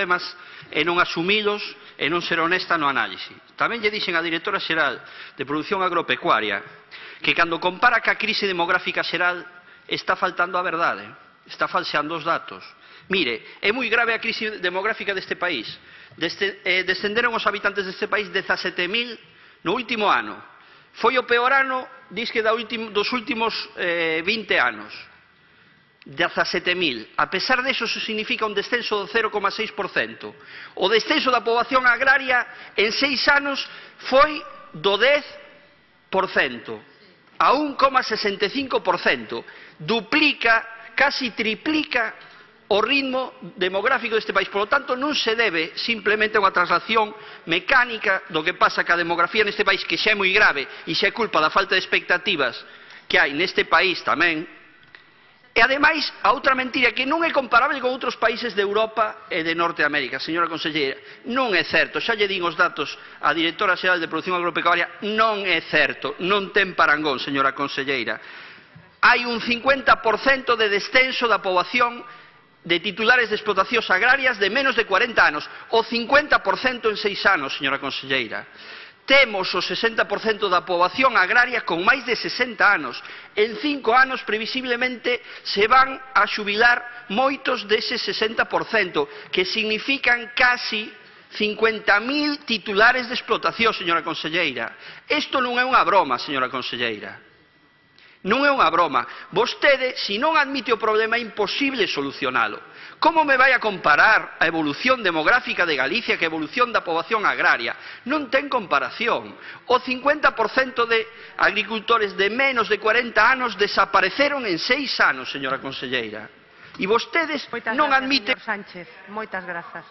problemas e non asumilos e non ser honesta no análise. Tamén lle dixen á directora xeral de Produción Agropecuaria que cando compara ca crise demográfica xeral está faltando a verdade, está falseando os datos. Mire, é moi grave a crise demográfica deste país. Descenderon os habitantes deste país 17.000 no último ano. Foi o peor ano, disque dos últimos 20 anos. 17.000. A pesar deso, eso significa un descenso do 0,6%. O descenso da poboación agraria en 6 anos foi do 10% a 1,65%. Duplica, casi triplica o ritmo demográfico deste país. Por lo tanto, non se debe simplemente a unha traslación mecánica do que pasa ca demografía neste país, que xa é moi grave e xa é culpa da falta de expectativas que hai neste país tamén. E, ademais, a outra mentira que non é comparable con outros países de Europa e de Norteamérica, señora conselleira. Non é certo, xa lle din os datos á directora xeral de Produción Agropecuaria, non é certo, non ten parangón, señora conselleira. Hai un 50% de descenso da poboación de titulares de explotacións agrarias de menos de 40 anos, o 50% en 6 anos, señora conselleira. Temos o 60% da poboación agraria con máis de 60 anos. En 5 anos, previsiblemente, se van a xubilar moitos dese 60%, que significan casi 50.000 titulares de explotación, señora conselleira. Isto non é unha broma, señora conselleira. Non é unha broma. Vostede, se non admite o problema, é imposible solucionalo. Como me vai a comparar a evolución demográfica de Galicia que a evolución da poboación agraria? Non ten comparación. O 50% de agricultores de menos de 40 anos desapareceron en 6 anos, señora conselleira. E vostedes non admiten... Moitas grazas, señor Sánchez. Moitas grazas.